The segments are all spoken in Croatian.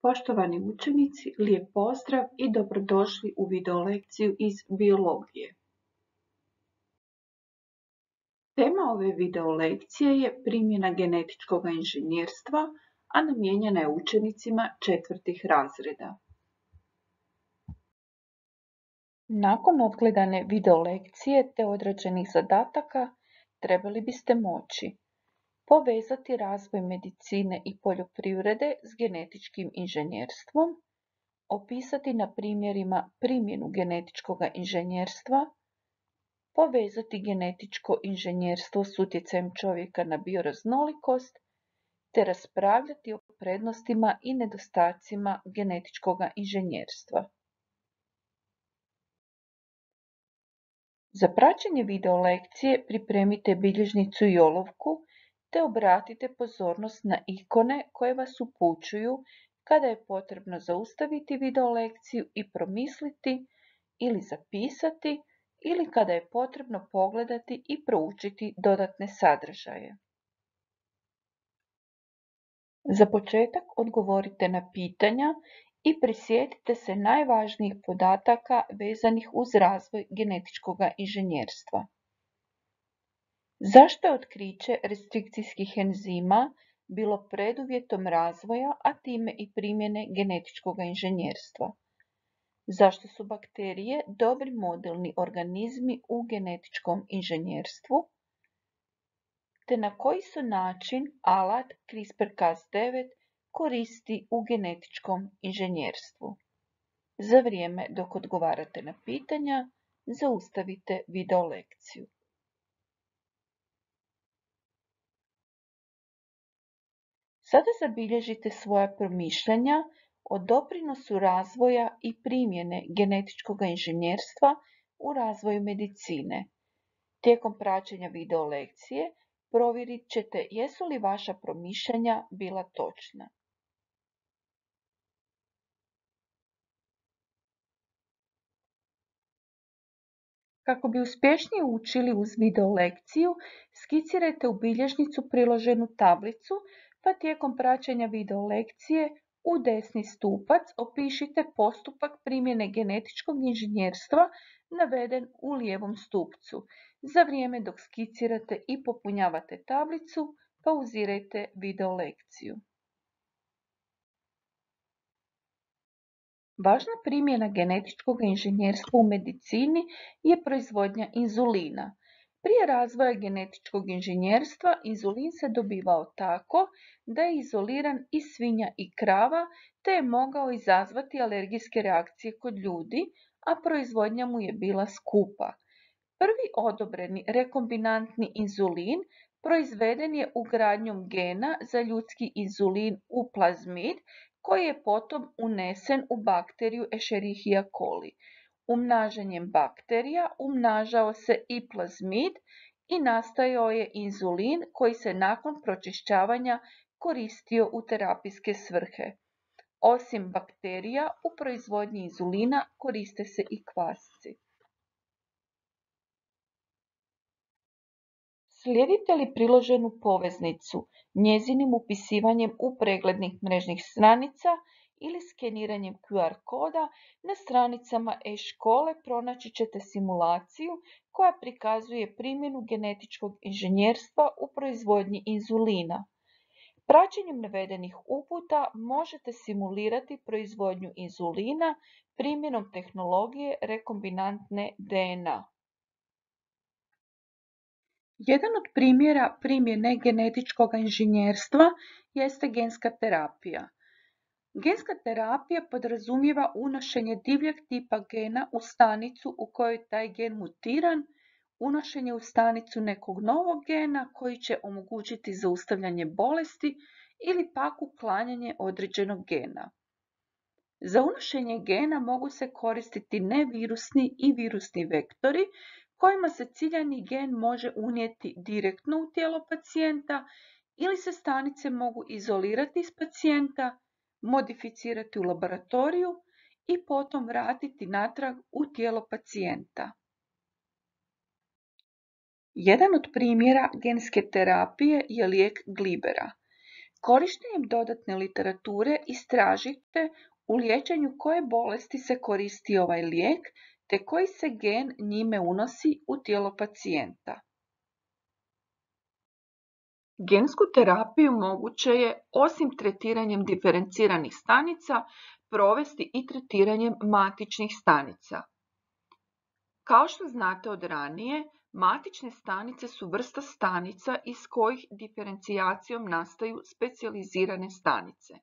Poštovani učenici, lijep pozdrav i dobrodošli u video lekciju iz biologije. Tema ove video lekcije je primjena genetičkog inženjerstva, a namijenjena je učenicima 4. razreda. Nakon odgledane video lekcije te odrađenih zadataka, trebali biste moći povezati razvoj medicine i poljoprivrede s genetičkim inženjerstvom, opisati na primjerima primjenu genetičkog inženjerstva, povezati genetičko inženjerstvo s utjecajem čovjeka na bioraznolikost, te raspravljati o prednostima i nedostacima genetičkog inženjerstva. Za praćenje video lekcije pripremite bilježnicu i olovku, te obratite pozornost na ikone koje vas upućuju kada je potrebno zaustaviti video lekciju i promisliti ili zapisati, ili kada je potrebno pogledati i proučiti dodatne sadržaje. Za početak odgovorite na pitanja i prisjetite se najvažnijih podataka vezanih uz razvoj genetičkog inženjerstva. Zašto je otkriće restrikcijskih enzima bilo preduvjetom razvoja, a time i primjene genetičkog inženjerstva? Zašto su bakterije dobri modelni organizmi u genetičkom inženjerstvu? Te na koji se način alat CRISPR-Cas9 koristi u genetičkom inženjerstvu? Za vrijeme dok odgovarate na pitanja, zaustavite video lekciju. Sada zabilježite svoja promišljanja o doprinosu razvoja i primjene genetičkog inženjerstva u razvoju medicine. Tijekom praćenja video lekcije provjerit ćete jesu li vaša promišljanja bila točna. Kako bi uspješnije učili uz video lekciju, skicirajte u bilježnicu priloženu tablicu, pa tijekom praćenja video lekcije u desni stupac opišite postupak primjene genetičkog inženjerstva naveden u lijevom stupcu. Za vrijeme dok skicirate i popunjavate tablicu, pauzirajte video lekciju. Važna primjena genetičkog inženjerstva u medicini je proizvodnja inzulina. Prije razvoja genetičkog inženjerstva inzulin se dobivao tako da je izoliran iz svinja i krava, te je mogao izazvati alergijske reakcije kod ljudi, a proizvodnja mu je bila skupa. Prvi odobreni rekombinantni inzulin proizveden je ugradnjom gena za ljudski inzulin u plazmid, koji je potom unesen u bakteriju Escherichia coli. Umnažanjem bakterija umnažao se i plazmid i nastajao je inzulin koji se nakon pročišćavanja koristio u terapijske svrhe. Osim bakterija, u proizvodnji inzulina koriste se i kvasci. Slijedite li priloženu poveznicu njezinim upisivanjem u preglednih mrežnih stranica ili skeniranjem QR koda, na stranicama e-škole pronaći ćete simulaciju koja prikazuje primjenu genetičkog inženjerstva u proizvodnji inzulina. Praćenjem navedenih uputa možete simulirati proizvodnju inzulina primjenom tehnologije rekombinantne DNA. Jedan od primjera primjene genetičkog inženjerstva jeste genska terapija. Genska terapija podrazumijeva unošenje divljeg tipa gena u stanicu u kojoj je taj gen mutiran, unošenje u stanicu nekog novog gena koji će omogućiti zaustavljanje bolesti ili pak uklanjanje određenog gena. Za unošenje gena mogu se koristiti nevirusni i virusni vektori, kojima se ciljani gen može unijeti direktno u tijelo pacijenta ili se stanice mogu izolirati iz pacijenta, modificirati u laboratoriju i potom vratiti natrag u tijelo pacijenta. Jedan od primjera genske terapije je lijek glibera. Korištenjem dodatne literature istražite u liječenju koje bolesti se koristi ovaj lijek te koji se gen njime unosi u tijelo pacijenta. Gensku terapiju moguće je, osim tretiranjem diferenciranih stanica, provesti i tretiranjem matičnih stanica. Kao što znate od ranije, matične stanice su vrsta stanica iz kojih diferencijacijom nastaju specijalizirane stanice.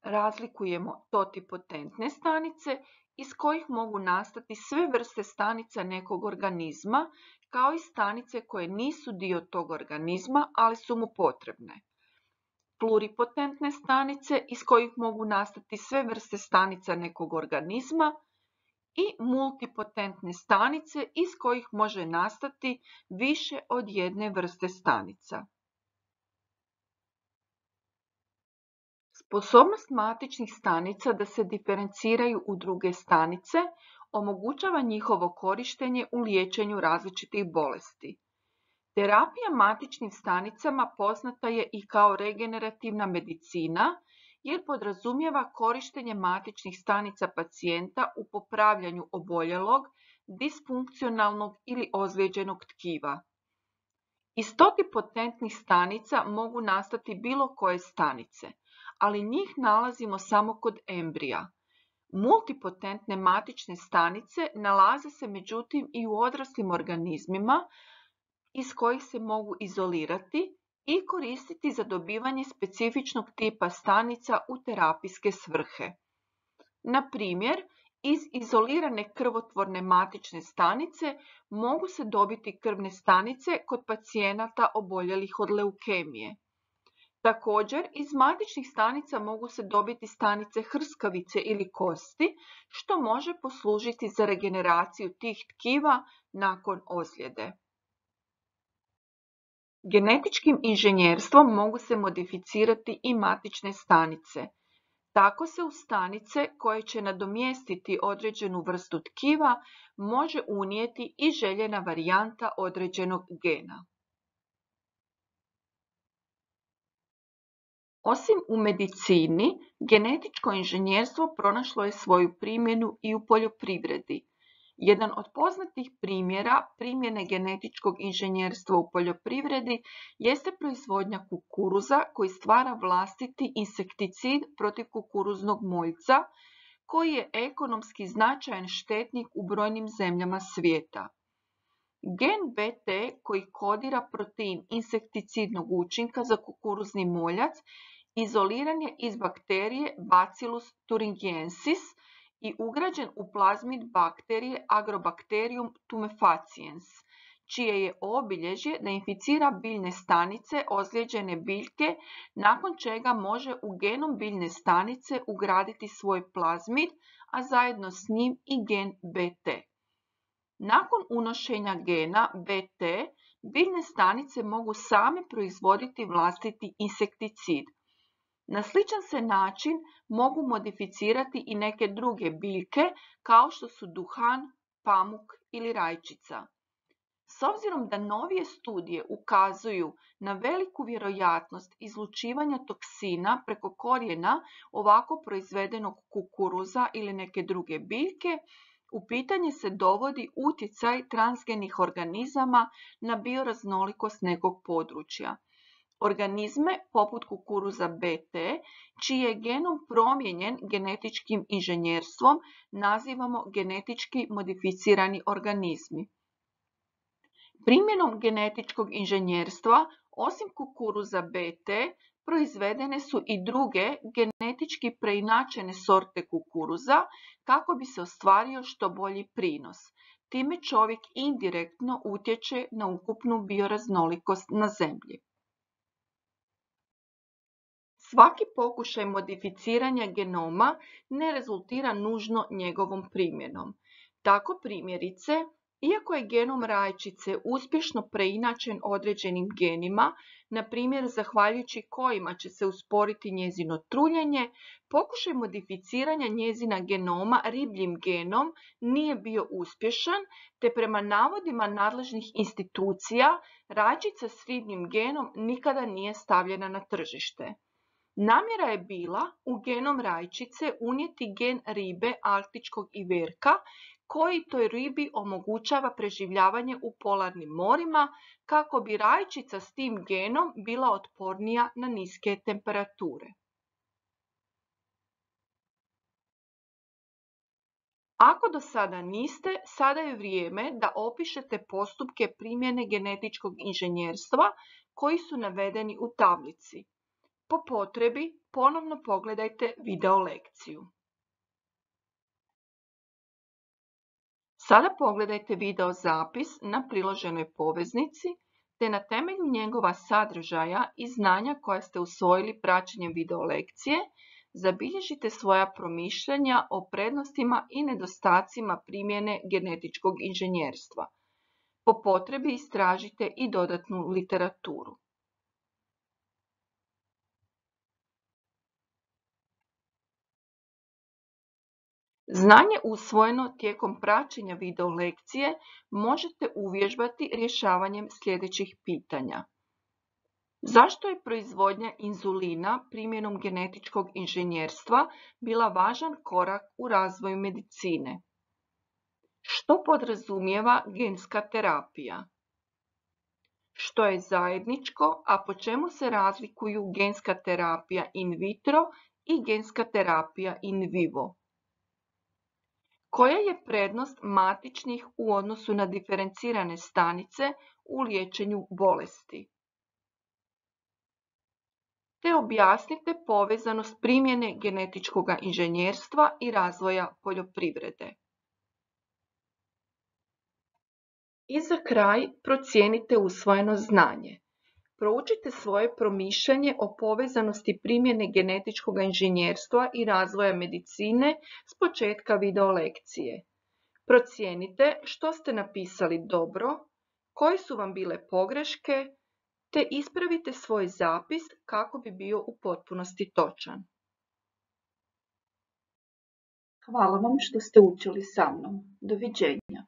Razlikujemo totipotentne stanice iz kojih mogu nastati sve vrste stanica nekog organizma, kao i stanice koje nisu dio tog organizma, ali su mu potrebne. Pluripotentne stanice iz kojih mogu nastati sve vrste stanica nekog organizma i multipotentne stanice iz kojih može nastati više od jedne vrste stanica. Sposobnost matičnih stanica da se diferenciraju u druge stanice omogućava njihovo korištenje u liječenju različitih bolesti. Terapija matičnim stanicama poznata je i kao regenerativna medicina, jer podrazumijeva korištenje matičnih stanica pacijenta u popravljanju oboljelog, disfunkcionalnog ili ozlijeđenog tkiva. Iz totipotentnih stanica mogu nastati bilo koje stanice, ali njih nalazimo samo kod embrija. Multipotentne matične stanice nalaze se međutim i u odraslim organizmima iz kojih se mogu izolirati i koristiti za dobivanje specifičnog tipa stanica u terapijske svrhe. Na primjer, iz izolirane krvotvorne matične stanice mogu se dobiti krvne stanice kod pacijenata oboljelih od leukemije. Također, iz matičnih stanica mogu se dobiti stanice hrskavice ili kosti, što može poslužiti za regeneraciju tih tkiva nakon ozljede. Genetičkim inženjerstvom mogu se modificirati i matične stanice. Tako se u stanice koje će nadomjestiti određenu vrstu tkiva može unijeti i željena varijanta određenog gena. Osim u medicini, genetičko inženjerstvo pronašlo je svoju primjenu i u poljoprivredi. Jedan od poznatih primjera primjene genetičkog inženjerstva u poljoprivredi jeste proizvodnja kukuruza koji stvara vlastiti insekticid protiv kukuruznog moljca, koji je ekonomski značajan štetnik u brojnim zemljama svijeta. Gen BT koji kodira protein insekticidnog učinka za kukuruzni moljac izoliran je iz bakterije Bacillus thuringiensis i ugrađen u plazmid bakterije Agrobacterium tumefaciens, čije je obilježje da inficira biljne stanice ozlijeđene biljke, nakon čega može u genom biljne stanice ugraditi svoj plazmid, a zajedno s njim i gen BT. Nakon unošenja gena BT, biljne stanice mogu same proizvoditi vlastiti insekticid. Na sličan se način mogu modificirati i neke druge biljke kao što su duhan, pamuk ili rajčica. S obzirom da novije studije ukazuju na veliku vjerojatnost izlučivanja toksina preko korijena ovako proizvedenog kukuruza ili neke druge biljke, u pitanje se dovodi utjecaj transgenih organizama na bioraznolikost nekog područja. Organizme poput kukuruza BT, čiji je genom promijenjen genetičkim inženjerstvom, nazivamo genetički modificirani organizmi. Primjenom genetičkog inženjerstva, osim kukuruza BT, proizvedene su i druge genetički preinačene sorte kukuruza kako bi se ostvario što bolji prinos. Time čovjek indirektno utječe na ukupnu bioraznolikost na zemlji. Svaki pokušaj modificiranja genoma ne rezultira nužno njegovom primjenom. Tako primjerice, Iako je genom rajčice uspješno preinačen određenim genima, na primjer zahvaljujući kojima će se usporiti njezino truljenje, pokušaj modificiranja njezina genoma ribljim genom nije bio uspješan, te prema navodima nadležnih institucija rajčica s ribljim genom nikada nije stavljena na tržište. Namjera je bila u genom rajčice unijeti gen ribe arktičkog iverka koji toj ribi omogućava preživljavanje u polarnim morima kako bi rajčica s tim genom bila otpornija na niske temperature. Ako do sada niste, sada je vrijeme da opišete postupke primjene genetičkog inženjerstva koji su navedeni u tablici. Po potrebi ponovno pogledajte video lekciju. Sada pogledajte video zapis na priloženoj poveznici te na temelju njegova sadržaja i znanja koja ste usvojili praćenjem video lekcije, zabilježite svoja promišljanja o prednostima i nedostacima primjene genetičkog inženjerstva. Po potrebi istražite i dodatnu literaturu. Znanje usvojeno tijekom praćenja video lekcije možete uvježbati rješavanjem sljedećih pitanja. Zašto je proizvodnja inzulina primjenom genetičkog inženjerstva bila važan korak u razvoju medicine? Što podrazumijeva genska terapija? Što je zajedničko, a po čemu se razlikuju genska terapija in vitro i genska terapija in vivo? Koja je prednost matičnih u odnosu na diferencirane stanice u liječenju bolesti? Te objasnite povezanost primjene genetičkog inženjerstva i razvoja poljoprivrede. I za kraj procijenite usvojeno znanje. Proučite svoje promišljanje o povezanosti primjene genetičkog inženjerstva i razvoja medicine s početka video lekcije. Procijenite što ste napisali dobro, koje su vam bile pogreške, te ispravite svoj zapis kako bi bio u potpunosti točan. Hvala vam što ste učili sa mnom. Doviđenja.